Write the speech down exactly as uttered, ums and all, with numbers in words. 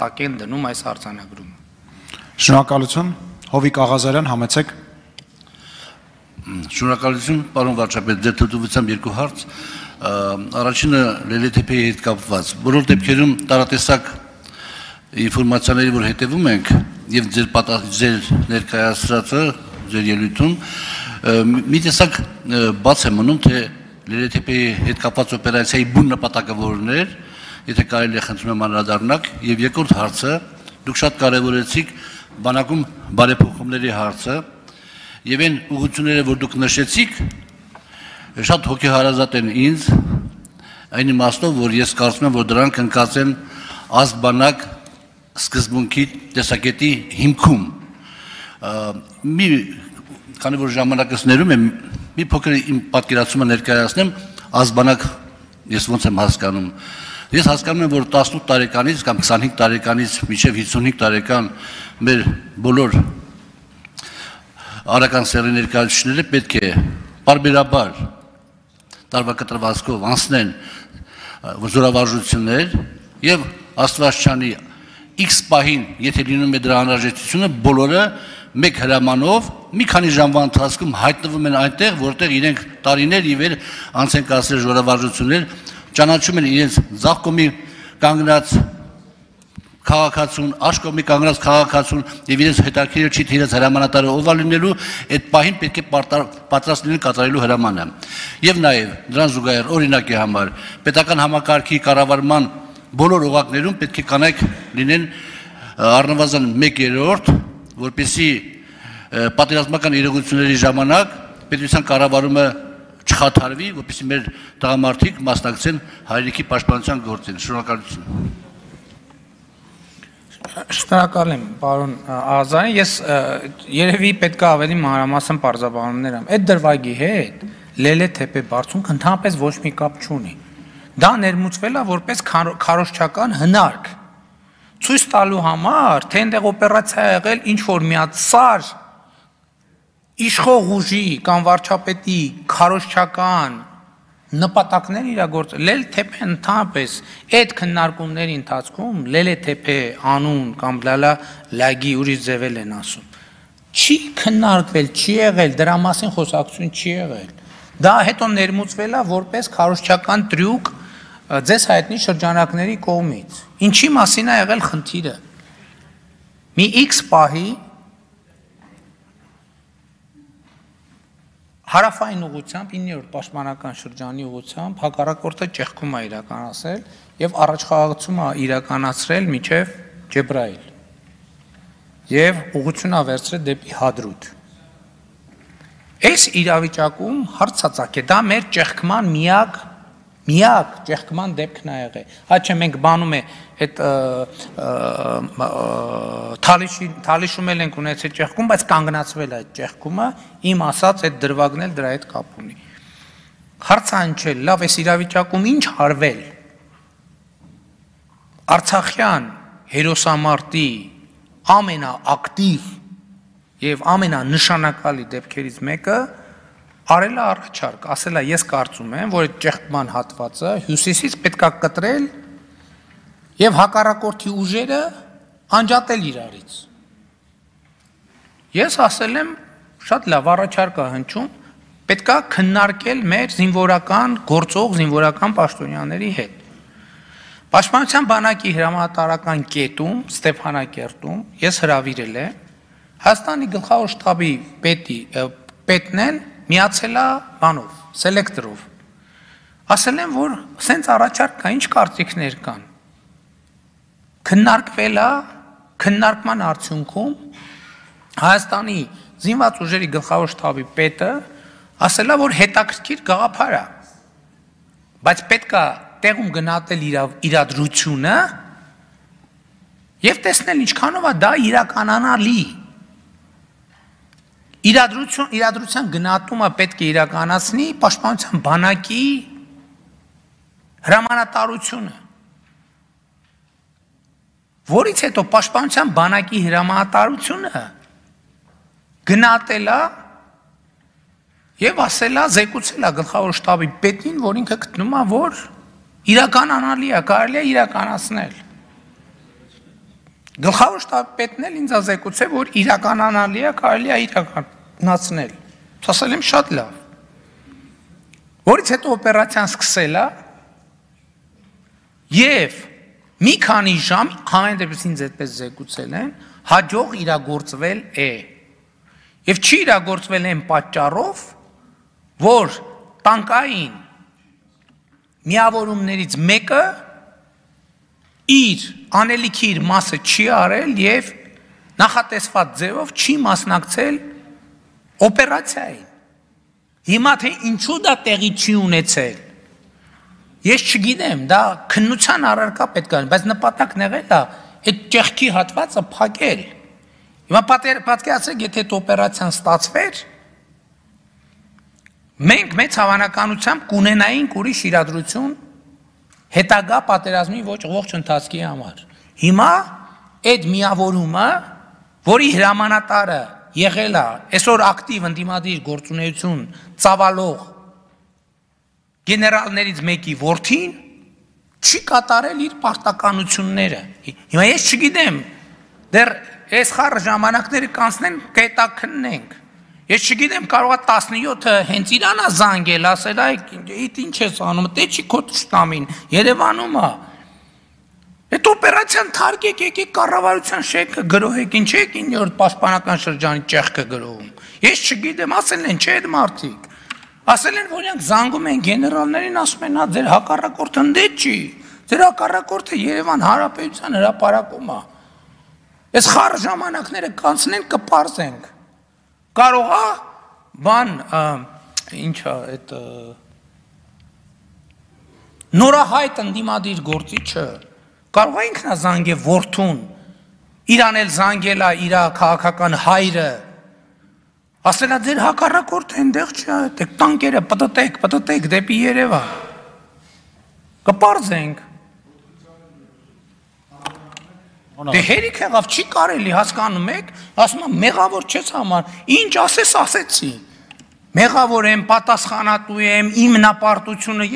նպատակ են դնում այս արձանագրումը։ Շնորհակալություն, Հովիկ Աղազարյան, համեցեք։ Շնորհակալություն, պարոն վարչապետ, ձեր թույլտվությամբ երկու հարց։ Առաջինը Լելեթեփեի հետ կապված։ Բոլոր դեպքերում տարատեսակ ինֆորմացիաների, որ հետևում ենք, եւ ձեր ձեր ներկայացրածը, ձեր ելույթում, մի տեսակ բաց է մնում, թե Լելեթեփեի հետ կապված օպերացիայի բուն նպատակը որն էր, եթե կարելի է խնդրում եմ անդրադառնալ, եւ երկրորդ հարցը, դուք շատ կարևորեցիք բանակում բարեփոխումների հարցը, եւ այն ուղղությունները, որ դուք նշեցիք, շատ հոգեհարազատ են ինձ, այն իմաստով, որ ես կարծում եմ, որ դրանք ընկած են ազգ-բանակ սկզբունքի տեսակետի հիմքում։ Մի քանի որ ժամանակս ներում եմ, մի փոքր իմ պատկերացումը ներկայացնեմ, ազգ-բանակ ես ոնց եմ հասկանում։ Ես հասկանում եմ, որ տասնութ տարեկանից կամ քսանհինգ տարեկանից մինչև հիսունհինգ տարեկան մեր բոլոր արական սեռի ներկայացուցիչները պետք է պարբերաբար տարվա կտրվածքով անցնեն զորավարժություններ եւ Աստվածչանի X պահին, եթե լինում է դրա անհրաժեշտությունը, բոլորը մեկ հրամանով մի քանի ժամվա ընթացքում հայտնվում են այնտեղ, որտեղ իրենք տարիներ ի վեր անց են կացրել զորավարժություններ, ճանաչում են իրենց ձախ կողմի կանգնած քաղաքացուն, աջ կողմի կանգնած քաղաքացուն եւ իրենց հետաքրքիր չի թե իրենց հրամանատարը ով է լինելու, այդ պահին պետք է պատրաստ լինել կատարելու հրամանը։ Եվ նաեւ դրան զուգահեռ օրինակի համար պետական համակարգի կառավարման բոլոր օղակներում պետք է կանայք լինեն առնվազն մեկ երրորդ, որպեսզի պատերազմական իրողությունների ժամանակ պետության կառավարումը չխաթարվի, որպեսզի մեր տղամարդիկ մասնակցեն հայրենիքի պաշտպանության գործին։ Շնորհակալություն։ Շնորհակալ եմ, պարոն Աղազարյան, ես երևի պետք է ավելի մանրամասն պարզաբանումներ եմ։ Այդ դրվագի հետ Լելեթեփե բարձունքը ընդհանրապես ոչ մի կապ չունի։ Դա ներմուծվել է որպես քարոզչական հնարք, ցույց տալու համար, թե այնտեղ օպերացիա ա եղել ինչ որ միացար իշխող ուժի կամ վարչապետի քարոզչական նպատակներ իրագործել։ Լելեթեփեն ընդհանրապես այդ քննարկումների ընթացքում Լելեթեփե անուն կամ լալա լագի ուրիշ ձևել են ասում։ Չի քննարկվել, չի եղել, դրա մասին խոսակցություն չի եղել։ Դա հետո ներմուծվել է որպես քարոզչական տրյուկ ձեզ հայտնի շրջանակների կողմից։ Ինչի մասին է եղել խնդիրը։ Մի X պահի հարավային ուղղությամբ իններորդ պաշտպանական շրջանի ուղղությամբ հակառակորդը ճեղքում է իրականացրել եւ առաջխաղացում է իրականացրել մինչեւ Ջեբրայիլ եւ ուղղությունը վերցրել դեպի Հադրութ։ Այս իրավիճակում հարցածակ է, դա մեր ճեղքման միակ միակ ճեղքման դեպքն է եղել։ Հա չէ մենք բանում է այդ թալիշում էլ ենք ունեցել ճեղքում, բայց կանգնացվել է այդ ճեղքումը, իմ ասած այդ դրվագն էլ դրա հետ կապ ունի։ Հարցը այն չէ, լավ, այս իրավիճակում ինչ արվել։ Արցախյան հերոսամարտի ամենաակտիվ եւ ամենանշանակալի դեպքերից մեկը արել է առաջարկ, ասել է ես կարծում եմ, որ այդ ճեղքման հատվածը հյուսիսից պետք է կտրել եւ հակառակորդի ուժերը անջատել իրարից։ Ես ասել եմ շատ լավ առաջարկ է հնչում, պետք է քննարկել մեր զինվորական գործող զինվորական պաշտոնյաների հետ։ Պաշտպանության բանակի հրամանատարական կետում Ստեփանակերտում ես հրավիրել եմ Հայաստանի գլխավոր շտաբի պետի պետն էլ միացել է բանով, սելեկտորով։ Ասել եմ, որ սենց առաջարկ կա, ինչ կարծիքներ կան։ Քննարկվել է, քննարկման արդյունքում Հայաստանի զինված ուժերի գլխավոր շտաբի պետը ասել է, որ հետաքրքիր գաղափար է, բայց պետք է տեղում գնահատել իրադրությունը եւ տեսնել ինչքանով է դա իրականանալի։ Իրադրություն, իրադրության գնահատումը պետք է իրականացնի պաշտպանության բանակի հրամանատարությունը, որից հետո պաշտպանության բանակի հրամանատարությունը գնահատել է եւ ասել է, զեկուցել է գլխավոր շտաբի պետին, որ ինքը գտնում է, որ իրականանալի է, կարելի է իրականացնել։ Գլխավոր շտաբի պետն էլ ինձ ազեկուցե, որ իրականանալի է, կարելի է իրականացնել։ Ասել եմ շատ լավ։ Որից հետո օպերացիան սկսել է եւ մի քանի ժամ համեն դեպս ինձ այդպես զեկուցել են, հաջող իրագործվել է։ Եվ չի իրագործվել այն պատճառով, որ տանկային միավորումներից մեկը իր անելիքի իր մասը չի արել եւ նախատեսված ձևով չի մասնակցել օպերացիային։ Հիմա թե ինչու դա տեղի չի ունեցել, ես չգիտեմ, դա քննության առարկա պետք է, բայց նպատակն եղել է այդ ճեղքի հատվածը փակել։ Հիմա պատկերացրեք, եթե այդ օպերացիան ստացվեր, մենք մեծ հավանականությամբ կունենայինք ուրիշ իրադրություն հետագա պատերազմի ողջ ընթացքի համար։ Հիմա այդ միավորումը, որի հրամանատարը եղել է այսօր ակտիվ ընդդիմադիր գործունեություն ծավալող գեներալներից մեկի որդին, չի կատարել իր պարտականությունները։ Հիմա ես չգիտեմ, դեռ այս խառը ժամանակները կանցնեն, կհետաքննենք։ Ես չգիտեմ, կարող է տասնյոթը հենց իրան է զանգել, ասել այ ինչ ես անում, դե չի քո ճշտամին, Երևանում է։ Այդ օպերացիան թարգեք, եկեք կառավարության շենքը գրոհեք, ինչ եք իններորդ պաշտպանական շրջանի ճեղքը գրոհում։ Ես չգիտեմ, ասել են չէ այդ մարդիկ։ Ասել են, որ իրանք զանգում են գեներալներին, ասում են, հա ձեր հակառակորդը ընդե չի։ Ձեր հակառակորդը Երևան Հանրապետության հրապարակում է։ Այս խառը ժամանակները կանցնեն, կպարզենք։ Կարող է բան ինչա այդ նորահայտ ընդդիմադիր գործիչը կարող է ինքնազանգել որդուն, իրան էլ զանգել է իր քաղաքական հայրը, ասել է ձեր հակառակորդը այնտեղ չի, այդտեղ տանկերը պտտեք, պտտեք դեպի Երևան։ Կպարզենք։ Դե հերիք եղավ, չի կարելի, հասկանում եք, ասում եմ, մեղավոր չես համար, ինչ ասես ասեցի, մեղավոր եմ, պատասխանատու եմ, իմ նապարտությունը